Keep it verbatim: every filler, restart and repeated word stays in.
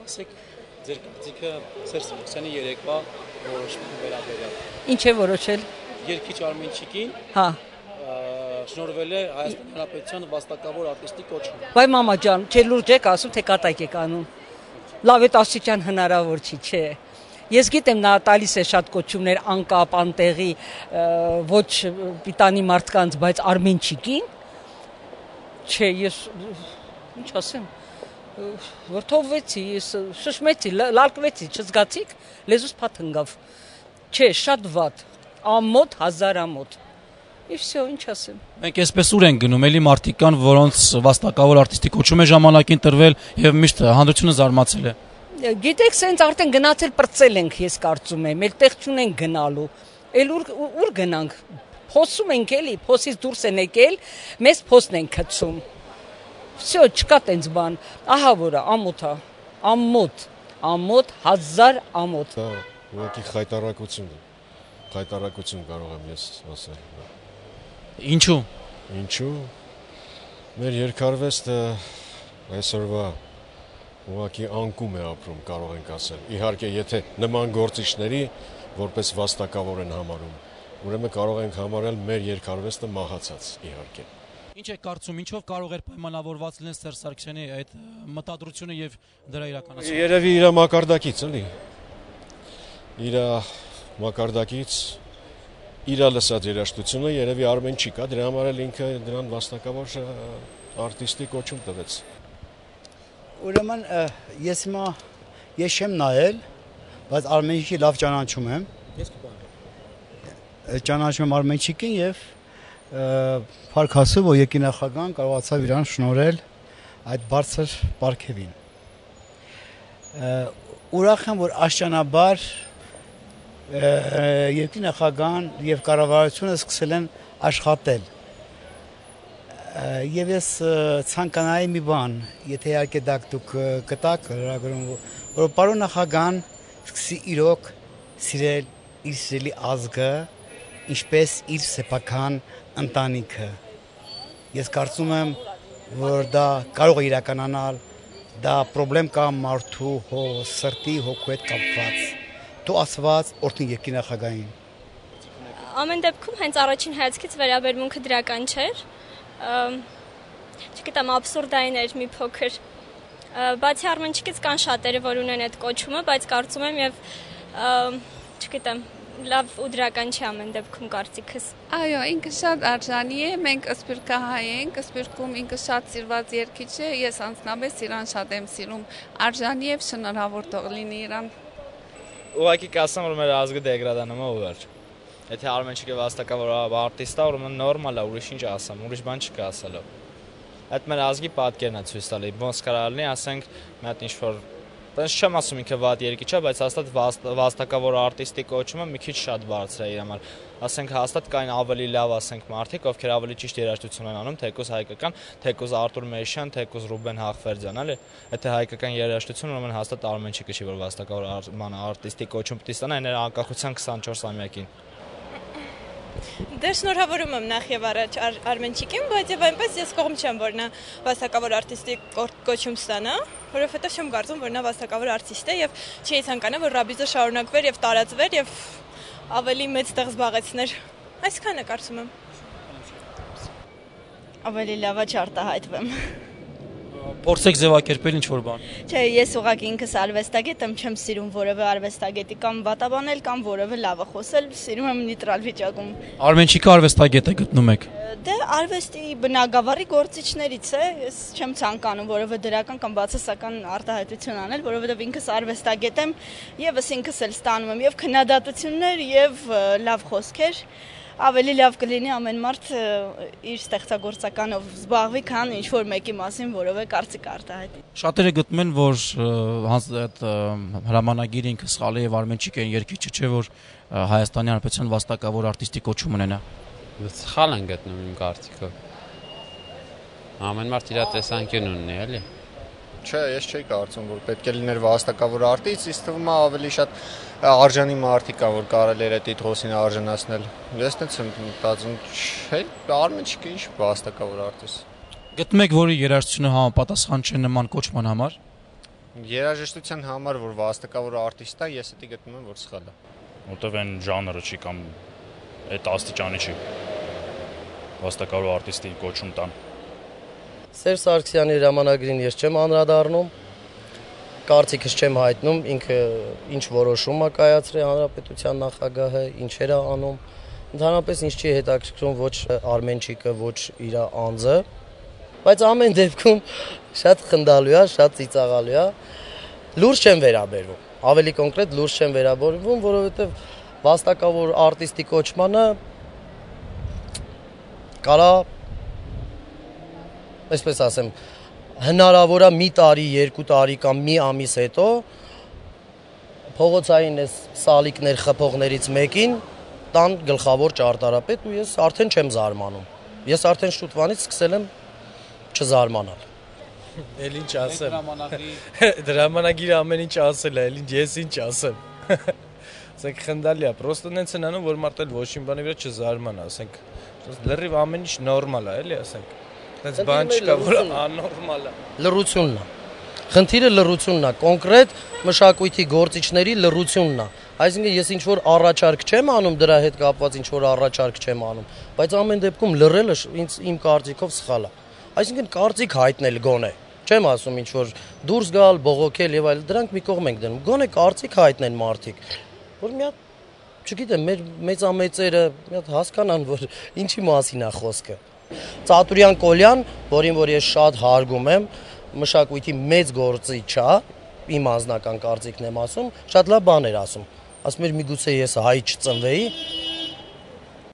ասեք ձեր կարծիքը Սերժ Սարգսյանի երեկվա որոշման վերաբերյալ։ Ինչ է որոշել։ Երգիչ Արմենչիկին Հա շնորհվել է Հայաստանի Հանրապետության վաստակավոր արտիստի կոչում։ Բայ մամա ջան, չէ լուրջ եք ասում, թե կատակ եք անում։ Լավ է աստիճան հնարավոր չի, չէ։ Ես գիտեմ նա տալիս է շատ կոչումներ անկապ, անտեղի, ոչ պիտանի մարդկանց, բայց Արմենչիկին չէ, ես ինչ ասեմ, վրդովվեցի, ես շշմեցի, լալկվեցի, չզգացիք, լեզուս փաթ ընկավ։ Չէ, շատ վատ, ամոթ, հազար ամոթ։ Եվ всё, ինչ ասեմ։ Մենք այսպես ուր ենք գնում, էլի մարդիկ կան, որոնց վաստակավոր արտիստի կոչում է ժամանակին տրվել եւ միշտ հանդրությունը զարմացել է։ Գիտեք, սենց արդեն գնացել պրծել ենք, ես կարծում եմ, էլ տեղ չունենք գնալու։ Էլ ուր ուր գնանք։ Փոսում ենք էլի, փոսից դուրս են եկել, մեզ փոսն են գցում։ Всё, չկա տենց բան։ Ահա որը ամոթ է, ամոթ, ամոթ, հազար ամոթ։ Դա ուղղակի խայտարակություն է։ Խայտարակություն կարող եմ ես ասել։ Ինչու։ Ինչու։ Մեր երկարվեստը այսօրվա ուղղակի անկում է ապրում, կարող ենք ասել։ Իհարկե, եթե նման գործիչների որպես վաստակավոր են համարում, ուրեմն կարող ենք համարել մեր երկարվեստը մահացած, իհարկե։ Ինչ եք կարծում, ինչով կարող էր պայմանավորված լինել Սերժ Սարգսյանի այդ մտադրությունը եւ դրա իրականացումը։ Երևի իր մակարդակից, էլի։ Իր մակարդակից իր լսած երաժշտությունը երևի Արմենչիկ է, դրա համար էլ ինքը դրան վաստակավոր արտիստի կոչում տվեց։ Ուրեմն ես հիմա ես չեմ նայել, բայց Արմենչիկի լավ ճանաչում եմ։ Ես կպահեմ։ Ճանաչում եմ Արմենչիկին եւ փառք Աստծո, որ եկինախագահան կարողացավ իրան շնորհել այդ բարձր պարգևին։ Ուրախ եմ, որ աշճանաբար եկինախագահան եւ կառավարությունը սկսել են աշխատել։ Եվ ես ցանկանայի մի բան, եթե իհարկե դուք կտակ հրագրում, որ պարոն նախագահան սկսի իրոք սիրել իր սիրելի ազգը, ինչպես իր սեփական ընտանիքը։ Ես կարծում եմ, որ դա կարող է իրականանալ, դա խնդրեմ կա մարդու հո սրտի հոգու հետ կապված։ Դու ասված օրհնի եկինախագահին։ Ամեն դեպքում հենց առաջին հայացքից վերաբերմունքը դրական չէր։ Չգիտեմ, աբսուրդային էր մի փոքր։ Բացի Արմենչիկից կան շատերը, որ ունեն այդ կոչումը, բայց կարծում եմ եւ չգիտեմ, լավ ու դրական չի ամեն դեպքում կարծիքս։ Այո, ինքը շատ արժանի է, մենք Սփյուռքահայ ենք, Սփյուռքում ինքը շատ սիրված երգիչ է, ես անձնապես իրան շատ եմ սիրում, արժանի է, շնորհավոր թող լինի իրան։ Ուղղակի կասեմ, որ մեր ազգը դեգրադանում է ու վերջ։ Եթե Արմենչիկը վաստակավոր արտիստ է, ուրեմն նորմալ է, ուրիշ ինչ ասեմ, ուրիշ բան չկա ասելու։ Այդ մեր ազգի պատկերն է ցույց տալի, ոնց կարա լինի, ասենք, մի հատ ինչ-որ Բայց չեմ ասում ինքը վատ երգիչ է, բայց հաստատ վաստակավոր արտիստի կոչումը մի քիչ շատ բարձր է իր համար։ Ասենք հաստատ կային ավելի լավ, ասենք, մարդիկ, ովքեր ավելի ճիշտ երաժշտություն են անում, թեկուզ հայկական, թեկուզ Արտուր Մերշյան, թեկուզ Ռուբեն Հաղվերդյան, էլի։ Եթե հայկական երաժշտություն, ուրեմն հաստատ Արմենչիկը չի, որ վաստակավոր արտիստի կոչում պիտի ստանա այն անկախության քսանչորսամյակին։ Դե շնորհավորում եմ նախ եւ առաջ Արմենչիկին, բայց եւ այնպես ես կողմ չեմ, որ նա վաստակավոր արտիստի կոչում ստանա, որովհետեւ չեմ կարծում, որ նա վաստակավոր արտիստ է եւ չի ցանկանա, որ ռաբիզը շարունակվեր եւ տարածվեր եւ ավելի մեծ տեղ զբաղեցներ։ Այսքանը կարծում եմ։ Ավելի լավ է չարտահայտվեմ։ Փորձեք ձևակերպել ինչ-որ բան։ Չէ, ես ուղղակի ինքս արվեստագետ եմ, չեմ սիրում որևէ արվեստագետի կամ վատաբանել կամ որևէ լավը խոսել, սիրում եմ նեյտրալ վիճակում։ Արմենչիկը արվեստագետ է գտնում եք։ Դե արվեստի բնագավառի գործիչներից է, ես չեմ ցանկանում որևէ դրական կամ բացասական արտահայտություն անել, որովհետև ինքս արվեստագետ եմ, եւս ինքս էլ ստանում եմ եւ քննադատություններ եւ լավ խոսքեր։ Ավելի լավ կլինի ամեն մարդ իր ստեղծագործականով զբաղվի, քան ինչ-որ մեկի մասին որևէ կարծիք արտահայտի։ Շատերը գտնում են, որ այդ հրամանագիրը ինքը սխալ է եւ Արմենչիկը երգիչը չէ, որ Հայաստանի Հանրապետության վաստակավոր արտիստի կոչում ունենա։ Սխալ են գտնում իմ կարծիքով։ Ամեն մարդ իր տեսանկյուն ունի, էլի։ Չէ, ես չէի կարծում, որ պետք է լիներ վաստակավոր արտիստ, ինձ թվում է ավելի շատ արժանի մարդիկ կա, որ կարելի էր այդ տիտղոսին արժանացնել։ Ես տենց եմ մտածում, չէ, Արմենչիկը ինչ վաստակավոր արտիստ։ Գտնում եք, որի երաժշտությունը համապատասխան չէ նման կոչման համար։ Երաժշտության համար, որ վաստակավոր արտիստ է, ես դա գտնում եմ, որ սխալ է։ Որտեվ այն ժանրը չի կամ այդ աստիճանի չի։ Վաստակավոր արտիստի կոչում տան։ Սերժ Սարգսյանի հրամանագրին ես չեմ անդրադառնում, կարծիքս չեմ հայտնում, ինքը ինչ որոշում է կայացրել հանրապետության նախագահը, ինչեր է անում։ Ընդհանրապես ինձ չի հետաքրքրում ոչ Արմենչիկը, ոչ իր անձը, բայց ամեն դեպքում շատ խնդալու է, շատ ծիծաղալու է։ Լուրջ չեմ վերաբերվում, ավելի կոնկրետ լուրջ չեմ վերաբերվում, որովհետև վաստակավոր արտիստի կոչմանը կարա, այսպես ասեմ, հնարավոր է մի տարի, երկու տարի կամ մի ամիս հետո փողոցային այս սալիկներ խփողներից մեկին տան գլխավոր ճարտարապետ ու ես արդեն չեմ զարմանում։ Ես արդեն շուտվանից սկսել եմ չզարմանալ։ Էլ ինչ ասեմ։ Դրամանագիրը ամեն ինչ ասել է, էլ ինչ ես ինչ ասեմ։ Ասենք խնդալի է, պրոստը նենց են անում, որ մարդը ոչ մի բանի վրա չզարմանա, ասենք լրիվ ամեն ինչ նորմալ է, էլի ասենք։ Դες բան չկա, որ աննորմալ է։ Լռությունն է։ Խնդիրը լռությունն է, կոնկրետ մշակույթի գործիչների լռությունն է։ Այսինքն ես ինչ որ առաջարկ չեմ անում դրա հետ կապված ինչ որ առաջարկ չեմ անում, բայց ամեն դեպքում լռելը ինձ իմ կարծիքով սխալ է։ Այսինքն կարծիք հայտնել գոնե։ Չեմ ասում ինչ որ դուրս գալ, բողոքել եւ այլ, դրանք մի կողմ ենք դնում։ Գոնե կարծիք հայտնեն մարդիկ, որ մի հատ, չգիտեմ, մեր մեծամեծերը մի հատ հասկանան, որ ինչի մասին է խոսքը։ Ծատուրյան Կոլյան, որին որ ես շատ հարգում եմ, մշակույթի մեծ գործիչ է, իմ անձնական կարծիքն եմ ասում, շատ լավ բաներ ասում։ Ասում էր միգուցե ես հայ չծնվեի,